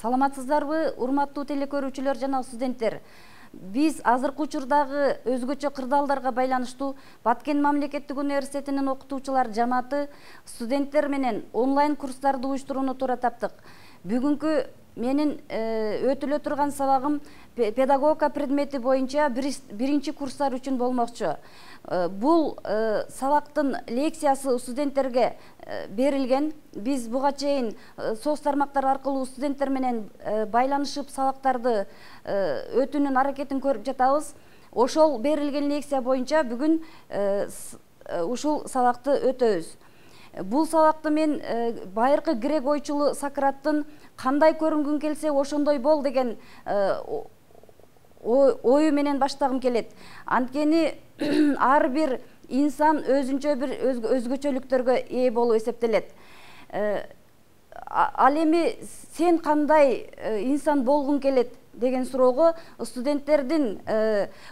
Саламатсыздарбы, урматтуу телекөрүүчүлөр жана студенттер. Биз азыркы учурдагы өзгөчө кырдаалдарга байланыштуу Баткен мамлекеттик университетинин окутуучулар жамааты студенттер менен онлайн курстарды уюштурууну туура таптык. Бүгүнкү менин өтүлө турган сабагым педагогика предмети боюнча биринчи курстар үчүн болмокчу. Бул сабактын лекциясы студенттерге берилген. Биз буга чейин соц тармактар аркылуу студенттер менен байланышып сабактарды өтүүнүн аракетин көрүп жатабыз. Ошол берилген лекция боюнча бүгүн ушул сабакты өтөбүз. Бул сабакты мен байыркы грек ойчулу Сократтын кандай көрүнгүң келсе ошондой бол деген ою менен баштагым келет. Анткени ар бир инсан өзүнчө бир өзгөчөлүктөргө ээ болуп эсептелет. Ал эми сен кандай инсан болгуң келет деген суроого студенттердин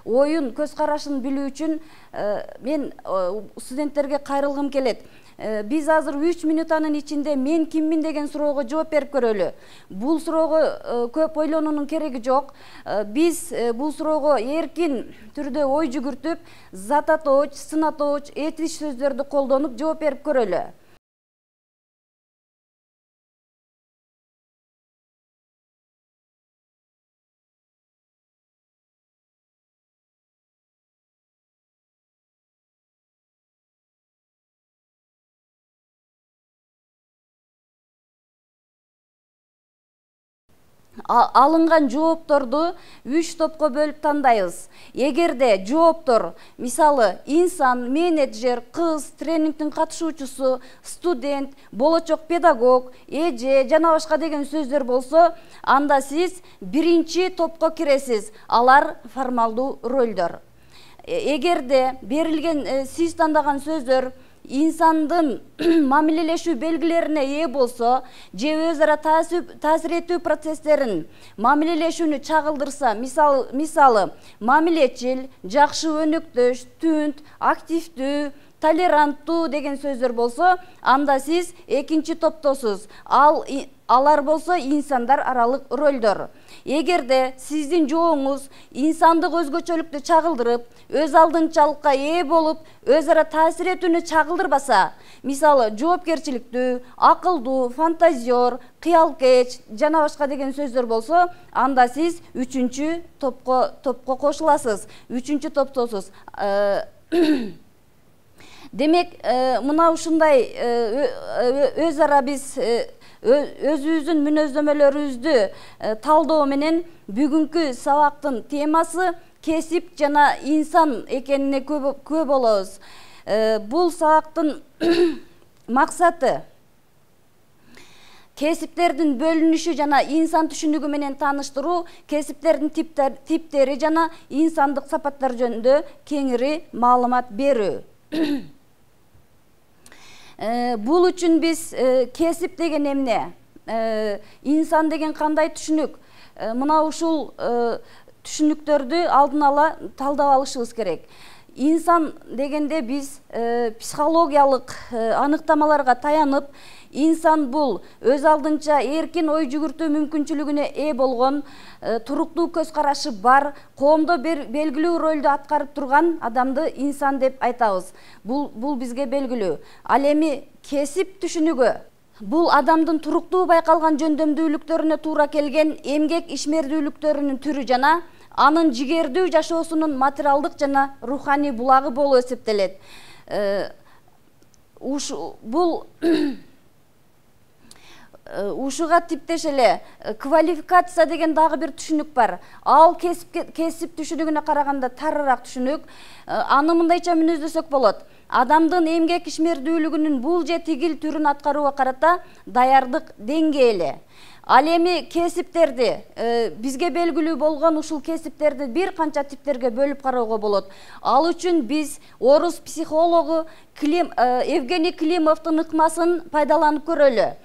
оюн, көз карашын билүү үчүн мен студенттерге кайрылгым келет. Биз азыр 3 минутанын ичинде мен киммин деген суроого жооп берип көрөлү. Бул суроого көп ойлонуунун кереги жок. Биз бул суроого эркин түрдө ой жүгүртүп, зат атооч, сын атооч, этиш сөздөрдү колдонуп жооп берип көрөлү. Алынган жоопторду 3 топко бөлүп тандайбыз. Эгерде жооптор, мисалы, инсан, менеджер, кыз, тренингдин катышуучусу, студент, болочок педагог, эже жана башка деген сөздөр болсо, анда сиз биринчи топко киресиз. Алар формалдуу ролдор. Эгерде берилген сиз тандаган сөздөр инсандын мамилелешүү белгилерине ээ болсо, же өз ара таасир этүү процесстерин мамилелешүүнү чагылдырса, мисалы, мамилечил, жакшы өнөктөш, түнт, активдүү, толеранттуу деген сөздөр болсо, анда сиз экинчи топтосуз. Алар болсо инсандар аралык ролдор. Эгерде сиздин жооңуз инсандык өзгөчөлүктү чагылдырып, өз алдынчалыкка ээ болуп, өз ара таасир этүүнү чагылдырбаса, мисалы, жоопкерчиликтүү, акылдуу, фантазер, кыялкеч жана башка деген сөздөр болсо, анда сиз 3-чү топко кошуласыз, 3-чү топтосуз. Демек, мына ушундай өз ара биз өзүбүздүн мүнөздөмөлөрүбүздү талдоо менен бүгүнкү сабактын темасы кесип жана инсан экенине күбө болобуз. Бул сабактын максаты кесиптердин бөлүнүшү жана инсан түшүнүгү менен тааныштыруу, кесиптердин типтери жана инсандык сапаттар жөнүндө кеңири маалымат берүү. Бул үчүн биз кесип деген эмне? Инсан деген кандай түшүнүк? Мына ушул түшүнүктөрдү алдын ала талдап алышыбыз керек. Инсан дегенде биз психологиялык аныктамаларга таянып, инсан бул өз алдынча эркин ой жүгүртүү мүмкүнчүлүгүнө ээ болгон, туруктуу көз карашы бар, коомдо белгилүү ролду аткарып турган адамды инсан деп айтабыз. Бул бизге белгилүү. Ал эми кесип түшүнүгү бул адамдын туруктуу байкалган жөндөмдүүлүктөрүнө туура келген эмгек ишмердүүлүктөрүнүн түрү жана анын жигердүү жашоосунун материалдык жана руханий булагы болуп эсептелет. Бул ушуга типтеш эле квалификация деген дагы бир түшүнүк бар. Ал кесип түшүнүгүнө караганда тарыраак түшүнүк. Аны мындайча мүнөздөсөк болот. Адамдын эмгек ишмердүүлүгүнүн бул же тигил түрүн аткарууга карата даярдык деңгээли. Ал эми кесиптерди бизге белгилүү болгон ушул кесиптерди бир канча типтерге бөлүп кароого болот. Ал үчүн биз орус психологу Евгений Климовдун ыкмасын пайдаланып көрөлү.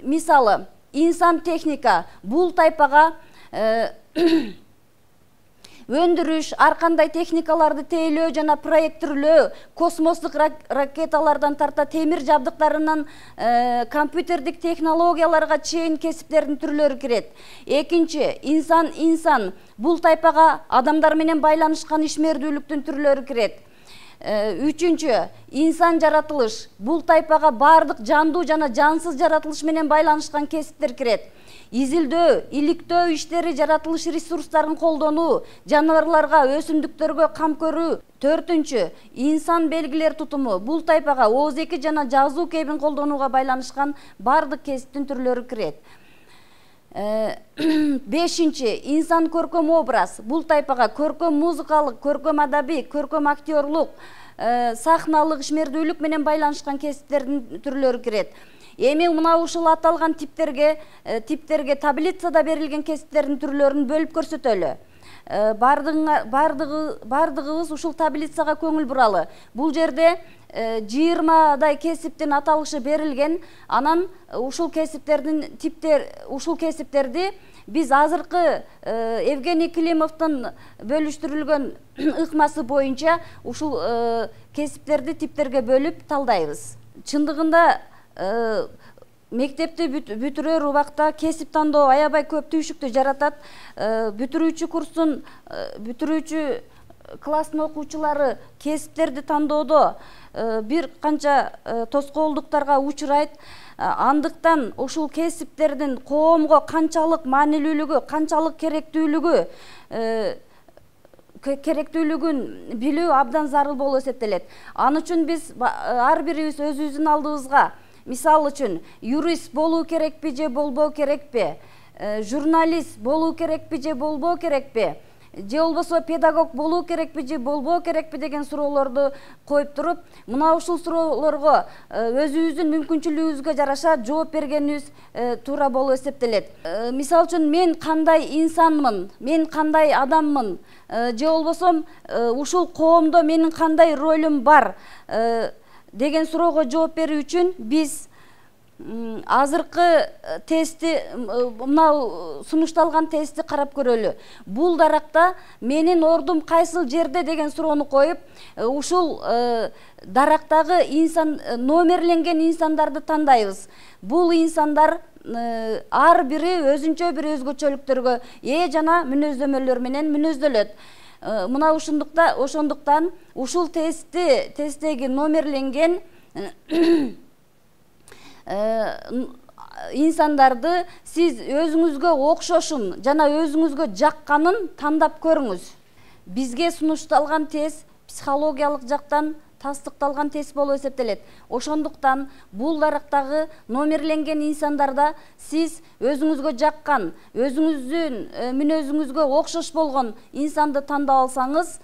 Мисалы, инсан техника бул тайпага өндүрүш, ар кандай техникаларды тейлөө жана проекттирлөө, космостук ракеталардан тарта темир жабдыктарынан компьютердик технологияларга чейин кесиптердин түрлөрү кирет. Экинчи, инсан бул тайпага адамдар менен байланышкан ишмердүүлүктүн түрлөрү кирет. Үчүнчү, инсан жаратылыш. Бул тайпага бардык жандуу жана жансыз жаратылыш менен байланышкан кесиптер кирет. Изилдөө, иликтөө иштери, жаратылыш ресурстарын колдонуу, жаныбарларга, өсүмдүктөргө кам көрүү. Төртүнчү, инсан белгилер тутуму. Бул тайпага ооз-эки жана жазуу кебин колдонууга байланышкан бардык кесиптин түрлөрү кирет. Бешинчи, инсан көркөм образ. Бул тайпага көркөм музыкалык, көркөм адабий, көркөм актерлук, сахналык, ишмердүүлүк менен байланышкан кесиптердин түрлөрү кирет. Эми мына ушул аталган типтерге таблицада берилген кесиптердин түрлөрүн бөлүп көрсөтөлү. Бардыгыбыз ушул таблицага көңүл буралы. Бул жерде 20 кесиптин аталышы берилген. Анан ушул кесиптерди биз азыркы Евгений Климовдун бөлүштүрүлгөн ыкмасы боюнча ушул кесиптерди типтерге бөлүп талдайбыз. Чындыгында мектепти бүтүрөр убакта кесип тандоо аябай көп түйшүктү жаратат. Бүтүрүүчү класстын окуучулары кесиптерди тандоодо бир канча тоскоолдуктарга учурайт. Андыктан ушул кесиптердин коомго канчалык маанилүүлүгү, канчалык керектүүлүгүн билүү абдан зарыл болуп эсептелет. Ал үчүн биз ар бирибиз өзүбүздүн алдыбызга, мисал үчүн, юрист болуу керекпи же болбоо керекпи, журналист болуу керекпи же болбоо керекпи, же болбосо педагог болуу керекпи же болбоо керекпи деген суроолорду коюп туруп, мына ушул суроолорго өзүбүздүн мүмкүнчүлүгүбүзгө жараша жооп бергенибиз туура болуп эсептелет. Мисал үчүн, мен кандай инсанмын, мен кандай адаммын, же болбосо ушул коомдо менин кандай ролум бар деген суроого жооп берүү үчүн биз азыркы тестти, мына сунушталган тестти карап көрөлү. Бул даракта менин ордум кайсыл жерде деген суроону коюп, ушул дарактагы номерленген инсандарды тандайбыз. Бул инсандар ар бири өзүнчө бир өзгөчөлүктөргө ээ жана мүнөздөмөлөр менен мүнөздөлөт. Мына ошондуктан ушул тесттеги номерленген инсандарды сиз өзүңүзгө окшошун жана өзүңүзгө жакканын тандап көрүңүз. Бизге сунушталган тест психологиялык жактан тастыкталган тест болуп эсептелет. Ошондуктан бул дарактагы номерленген инсандарда сиз өзүңүзгө жаккан, өзүңүздүн мүнөзүңүзгө окшош болгон инсанды тандап алсаңыз,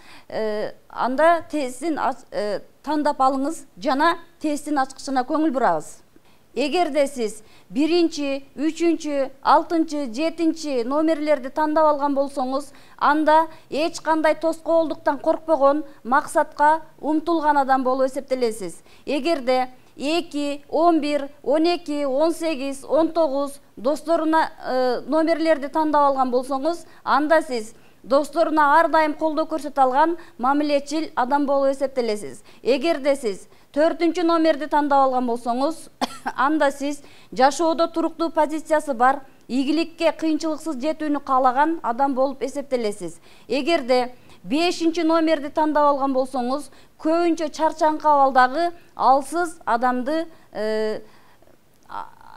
анда тесттин тандап алыңыз жана тесттин ачкычына көңүл бурабыз. Эгерде сиз 1-чи, 3-чү, 6-чы, 7-чи номерлерди тандап алган болсоңуз, анда эч кандай тоскоолдуктан коркпогон, максатка умтулган адам болуп эсептелесиз. Эгерде 2, 11, 12, 18, 19 досторуна номерлерди тандап алган болсоңуз, анда сиз досторуна ар дайым колдоо көрсөтө алган мамилечил адам болуп эсептелесиз. Эгерде сиз 4-чү номерди тандап алган болсоңуз, анда сиз жашоодо туруктуу позициясы бар, ийгиликке кыйынчылыксыз жетүүнү каалаган адам болуп эсептелесиз. Эгерде 5-чи номерди тандап алган болсоңуз, көбүнчө чарчаңкы абалдагы алсыз адамды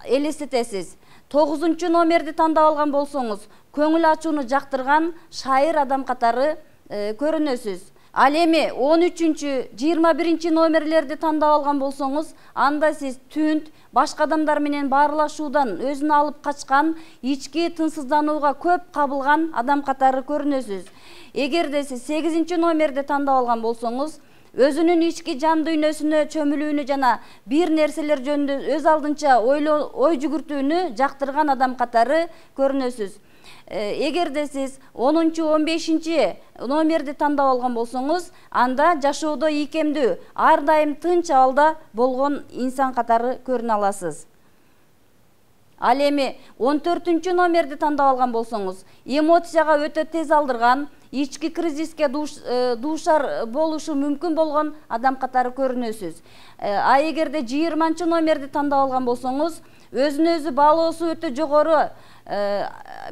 элестетесиз. 9-чу номерди тандап алган болсоңуз, көңүл ачууну жактырган шайыр адам катары көрүнөсүз. Ал эми 13-чү, 21-чи номерлерди тандап алган болсоңуз, анда сиз түнт, башка адамдар менен баарлашуудан өзүн алып качкан, ички тынчсызданууга көп кабылган адам катары көрүнөсүз. Эгерде сиз 8-чи номерди тандап алган болсоңуз, өзүнүн ички жан дүйнөсүнө чөмүлүүнү жана бир нерселер жөнүндө өз алдынча ой жүгүртүүнү жактырган адам катары көрүнөсүз. Эгерде сиз 10-чу, 15-чи номерди тандап алган болсоңуз, анда жашоодо ийкемдүү, ар дайым тынч абалда болгон инсан катары көрүнө аласыз. Ал эми 14 номерди тандап алган болсоңуз, эмоцияга өтө тез алдырган, ички кризиске дуушар болушу мүмкүн болгон адам катары көрүнөсүз. А эгерде 20 номерди тандап алган болсоңуз, өзүнө өзү баалоосу өтө жогору,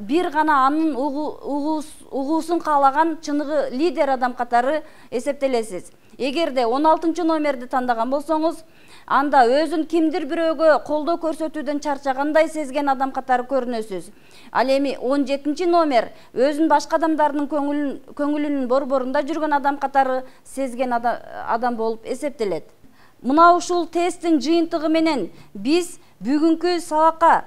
бир гана анын угуусун каалаган чыныгы лидер адам катары эсептелесиз. Эгерде 16 номерди тандаган болсоңуз, анда өзүн кимдир бирөөгө колдоо көрсөтүүдөн чарчагандай сезген адам катары көрүнөсүз. Ал эми 17 номер өзүн башка адамдардын көңүлүнүн борборунда жүргөн адам катары сезген адам болуп эсептелет. Мына ушул тесттин жыйынтыгы менен биз бүгүнкү сабакка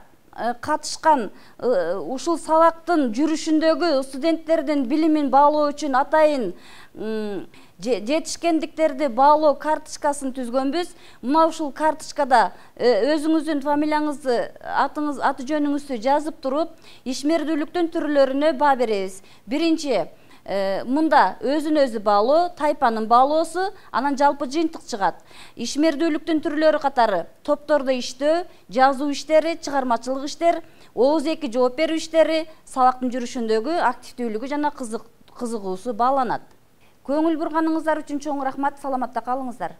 катышкан, ушул сабактын жүрүшүндөгү студенттердин билимин баалоо үчүн атайын жетишкендиктерди баалоо карточкасын түзгөнбүз. Мына ушул карточкада өзүңүздүн фамилияңызды, аты жөнүңүздү жазып туруп, ишмердүүлүктүн түрлөрүнө баа беребиз. Биринчи, мында өзүн өзү баалоо, тайпанын баалоосу, анан жалпы жыйынтык чыгат. Ишмердүүлүктүн түрлөрү катары топтордо иштөө, жазуу иштери, чыгармачылык иштер, ооз-эки жооп берүү иштери, сабактын жүрүшүндөгү активдүүлүгү жана кызыгуусу бааланат. Көңүл бурганыңыздар үчүн чоң рахмат, саламатта калыңыздар.